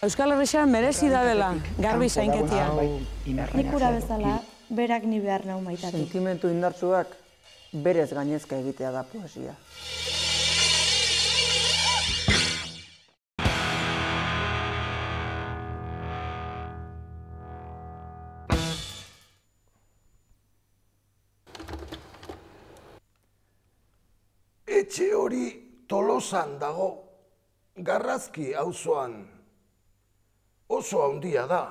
Euskal Herrixan merezi da dela, garbi zainketia. Nik ura bezala, berak ni behar nau maitatu. Sentimentu indartsuak berez gainezka egitea da poesia. Etxe hori Tolosan dago, Garrazki auzoan. Oso handia da.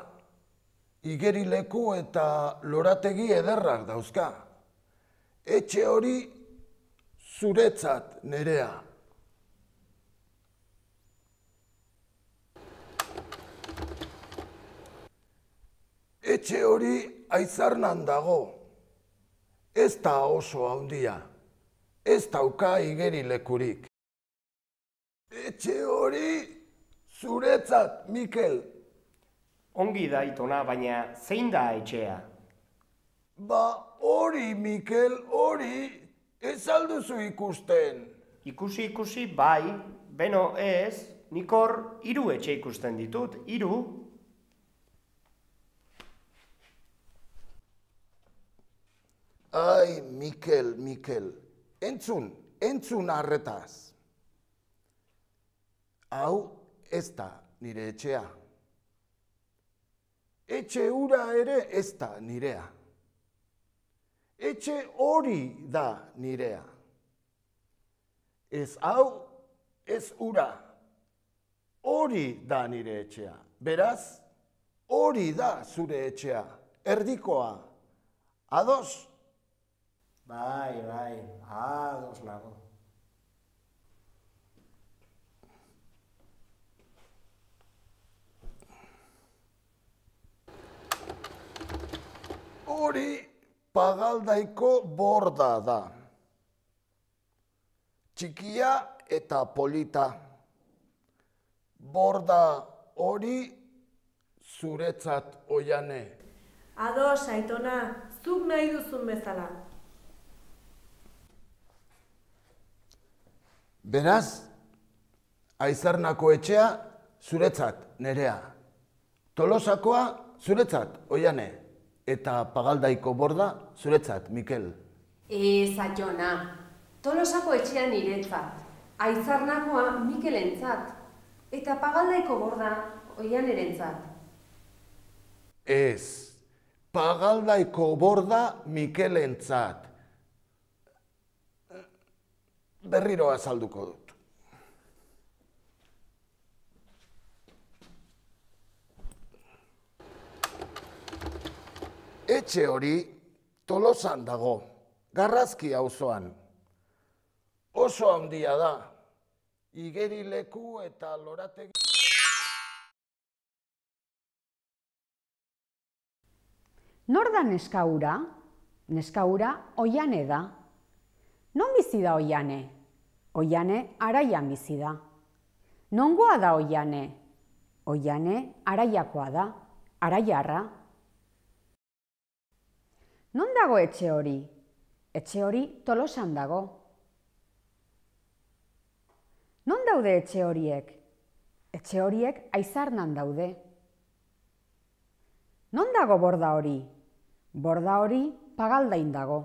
Igerileku eta lorategi ederrak dauzka. Etxe hori zuretzat, Nerea. Etxe hori Aizarnan dago. Ez da oso handia. Ez dauka igerilekurik. Etxe hori zuretzat, Mikel. Ongi da, Aitona, baina zein da etxea? Ba, hori, Mikel, hori, ez alduzu ikusten. Ikusi, bai, beno ez, nik hor 3 etxe ikusten ditut, 3. Ai, Mikel, entzun arretaz. Hau ez da nire etxea. Etxe hura ere ez da nirea. Etxe hori da nirea. Ez hau, ez hura. Hori da nire etxea. Beraz, hori da zure etxea. Erdikoa. Ados? Bai, ados nago. Hori Pagaldaiko borda da. Txikia eta polita. Borda hori zuretzat, Oiane. Ados, Aitona, zuk nahi duzun bezala. Beraz, Aizarnako etxea zuretzat, Nerea. Tolosakoa zuretzat, Oiane. Eta Pagaldaiko borda zuretzat, Mikel. Ez, Aiona. Tolosako etxea niretzat. Aizarnakoa Mikelentzat. Eta Pagaldaiko borda Oianerentzat. Ez, Pagaldaiko borda Mikelentzat. Berriro azalduko dut. Etxe hori Tolosan dago, Garrazki auzoan. Oso handia da, igerileku eta lorategi... Nor da neska hura? Neska hura Oiane da. Non bizi da Oiane? Oiane Araian bizi da. Nongoa da Oiane? Oiane Araiakoa da, Araiarra. Non dago etxe hori? Etxe hori Tolosan dago. Non daude etxe horiek? Etxe horiek Aizarnan daude. Non dago borda hori? Borda hori Pagaldain dago.